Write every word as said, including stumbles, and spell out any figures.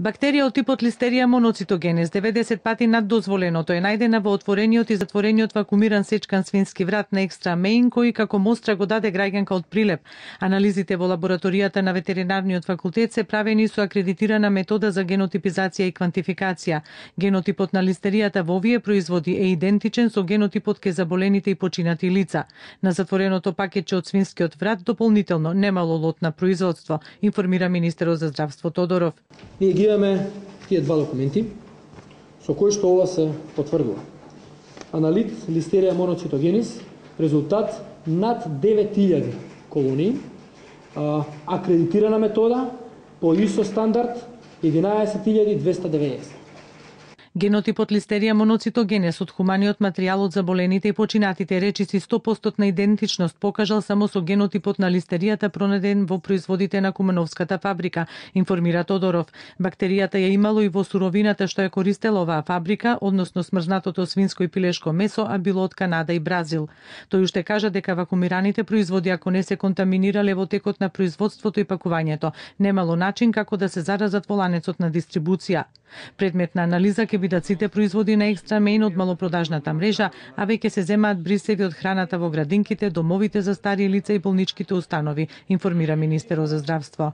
Бактерија од типот Listeria monocytogenes, деветдесет пати над дозволеното, е најдена во отворениот и затворениот вакуумиран сечкан свински врат на Екстра Мејн, кој како мостра го даде граѓанка од прилеп. Анализите во лабораторијата на ветеринарниот факултет се правени со акредитирана метода за генотипизација и квантификација. Генотипот на листеријата во овие производи е идентичен со генотипот ке заболените и починати лица. На затвореното пакетче од свинскиот врат дополнително немало лот на производство, информира министерот за здравство Тодоров. Ние ги имаме тие два документи со кои што ова се потврдува. Аналит Listeria monocytogenes, резултат над девет илјади колонии, акредитирана метода по ай ес о стандард единаесет илјади двесте деветдесет. Генотипот Listeria monocytogenes од хуманиот материјал од заболените и починатите речиси сто проценти идентичност покажал само со генотипот на листеријата пронеден во производите на Кумановската фабрика, информира Тодоров. Бактеријата ја имало и во суровината што ја користела оваа фабрика, односно смрзнатото свинско и пилешко месо, а било од Канада и Бразил. Тој уште кажа дека вакуумираните производи, ако не се контаминирале во текот на производството и пакувањето, немало начин како да се заразат во ланецот на дистрибуција. Предмет на анализа ќе бидат сите производи на Екстра Мејн од малопродажната мрежа, а веќе се земаат брисеви од храната во градинките, домовите за стари лица и болничките установи, информира министерот за здравство.